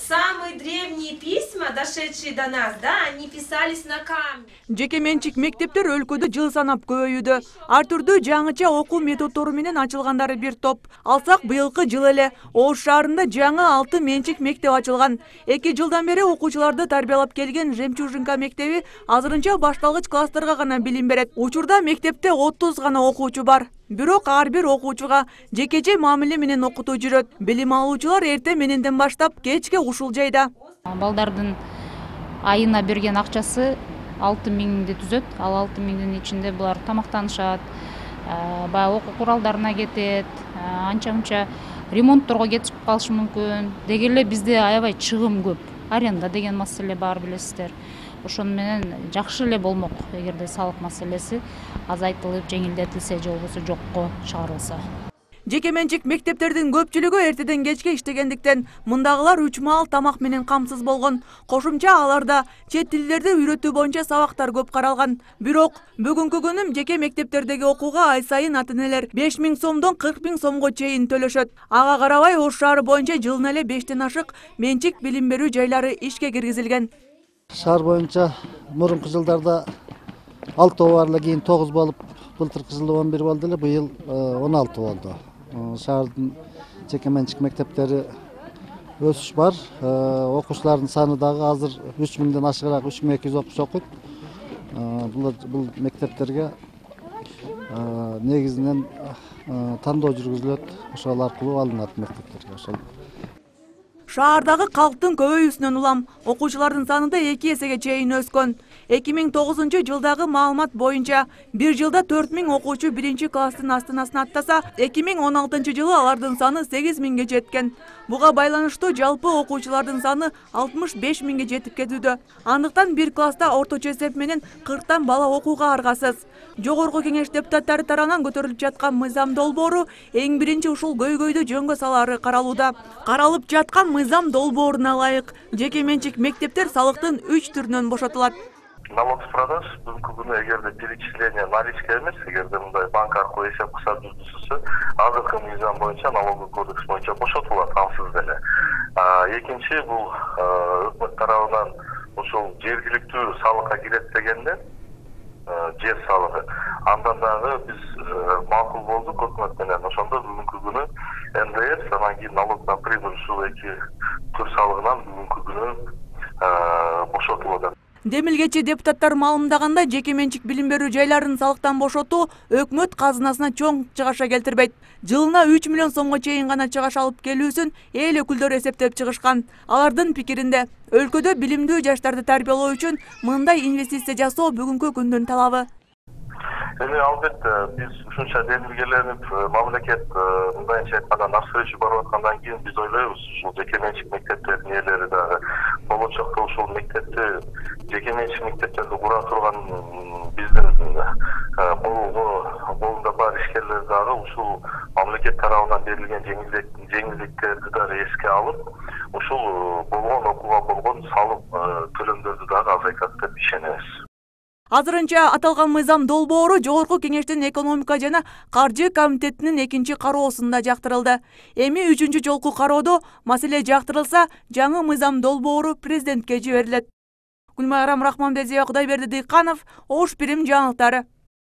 Самые древние письма, дошедшие до нас, да, они писались на камне. Жеке менчик мектептер өлкөдө жыл санап көбөйүүдө. Ар түрдүү жаңыча окуу методдору менен ачылгандары бир топ. Алсак быйылкы жыл эле Ош шаарында жаңы 6 менчик мектеп ачылган. 2 жылдан бери окуучуларды тарбиялап келген Жемчужинка мектеби азырынча башталгыч класстарга гана билим берет. Учурда мектепте 30 гана окуучу бар. Бирок ар бир окуучуга жекече мамиле менен окутуу жүрөт. Билим алуучулар эрте мененден баштап кечке ушул жайда. Балдардын айына берген акчасы 6000 түзөт. Ал 6000-дин ичинде булар тамактанышат, баягы окуу куралдарына кетет, анча-мунча ремонтторго кетип калышы мүмкүн. Деги эле бизде аябай чыгым көп. Аренда деген маселе бар, билесиздер. Ошону менен жакшы эле болмок эгерде салык маселеси азайтылып, жеңилдетилсе же болбосо жокко чыгарылса. Жеке менчик мектептердин көпчүлүгү эртеден кечке иштегендиктен мындагылар 3 маал тамак менен камсыз болгон. Кошумча аларда чет тилдерди үйрөтүү боюнча сабактар көп каралган. Бирок бүгүнкү күнү жеке мектептердеги окууга ай сайын ата-энелер 5000 сомдон 40000 сомго чейин төлөшөт. Ага карабай Ош шаары боюнча жылына эле 5тен ашык менчик билим берүү жайлары ишке киргизилген. Шаар боюнча мурунку жылдарда 6 бар эле, кийин 9 болуп, былтыркы жылы 11 болду эле, быйыл 16 болду. Шаардын жеке менчик мектептери өсүш бар. Окуучулардын саны дагы азыр 3000ден ашыгыраак, 3200 окуучу окуйт. Бул мектептерге негизинен тандоо жүргүзүлөт, ошол аркылуу алынат мектептерге. Ошол Шаардагы калктын көбөйүүсүнөн улам окуучулардын саны да 2 эсеге чейин өскөн. 2009 жылдагы маалымат боюнча бир жылда 4000 окуучу 1 класстын астынасына аттаса, 2016 жылы алардын саны 8000ге жеткен. Буга байланыштуу жалпы окуучулардын саны 65000ге жетип кетүүдө. Андыктан бир класста орточо эсеп менен 40тан бала окууга аргасыз. Жогорку кеңеш депутаттары тарабынан көтөрүлүп жаткан мыйзам долбоору эң биринчи ушул көйгөйдү жөнгө салаары каралууда. Каралып жаткан мыйзам долбооруна ылайык жеке менчик мектептер салыктын 3 түрүнөн бошотулат. Налог с продаж бүгүнкү күнү эгерде перечисление наличка эмес, эгерде мындай банк аркылуу эсеп кылса жүргүзүлсө, азыркы мыйзам боюнча налоговый кодекс боюнча бошотулат ансыз деле. Экинчи бул өкмөт тарабынан ушул жергиликтүү салыкка кирет дегенде, жер салыгы. Андан дагы биз макул болдук өкмөт менен. Ошондо бүгүнкү күнү НДС, анан кийин налог на прибыль ушул эки түр салыгынан бүгүнкү күнү бошотулат. Демилгечи депутаттар маалымдаганда жеке менчик билим берүү жайларын салыктан бошотуу өкмөт казынасына чоң чыгаша келтирбейт. Жылына 3 миллион сомго чейин гана чыгаш алып келүүсүн эл өкүлдөрү эсептеп чыгышкан. Алардын пикиринде, өлкөдө билимдүү жаштарды тарбиялоо үчүн мындай инвестиция жасоо бүгүнкү күндүн талабы. Эми албетте биз ушунча демилгеленип, мамлекет мындайча айтканда навстречу барып аткандан кийин биз ойлойбуз, ушул жеке менчик мектептердин ээлери дагы болочокто ушул мектепти, жеке менчик мектептерди кура турган биздин колунда бар ишкерлер дагы ушул мамлекет тарабынан берилген жеңилдиктерди дагы эске алып, ушул болгон окууга болгон салык төлөмдөрдү дагы азайтат деп ишенебиз. Азырынча аталган мыйзам долбоору Жогорку кеңештин экономика жана каржы комитетинин 2-чи кароосунда жактырылды. Эми 3-чү жолку кароодо маселе жактырылса, жаңы мыйзам долбоору президентке жиберилет. Гүлмайрам Рахманбердиева, Кудайберди Дыйканов, Ош Бирим жаңылыктары.